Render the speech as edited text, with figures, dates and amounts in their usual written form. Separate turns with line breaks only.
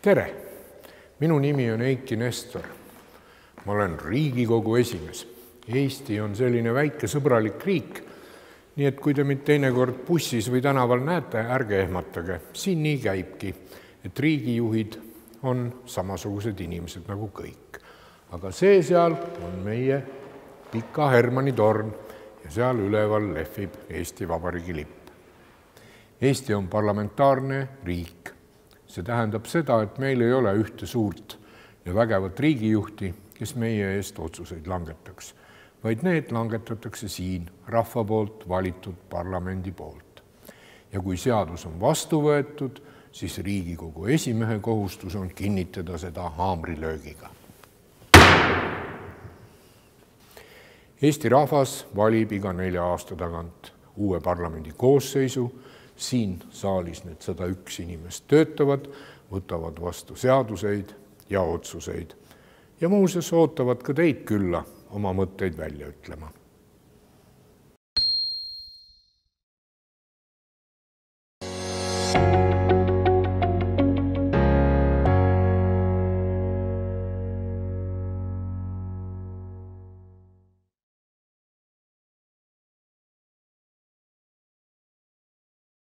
Tere! Minu nimi on Eiki Nestor. Ma olen Riigikogu esimees. Eesti on selline väike sõbralik riik, nii et kui te mind teinekord bussis või tänaval näete, ärge ehmatage. Siin nii käibki, et riigijuhid on samasugused inimesed nagu kõik. Aga see seal on meie Pika Hermanni torn ja seal üleval lehvib Eesti Vabariigi lipp. Eesti on parlamentaarne riik. See tähendab seda, et meil ei ole ühte suurt ja vägevat riigijuhti, kes meie eest otsuseid langetaks, vaid need langetatakse siin rahva poolt valitud parlamendi poolt. Ja kui seadus on vastu võetud, siis Riigikogu esimehe kohustus on kinnitada seda haamrilöögiga. Eesti rahvas valib iga 4 aasta tagant uue parlamendi koosseisu. Siin saalis need 101 inimest töötavad, võtavad vastu seaduseid ja otsuseid. Ja muuseas ootavad ka teid külla oma mõtteid välja ütlema.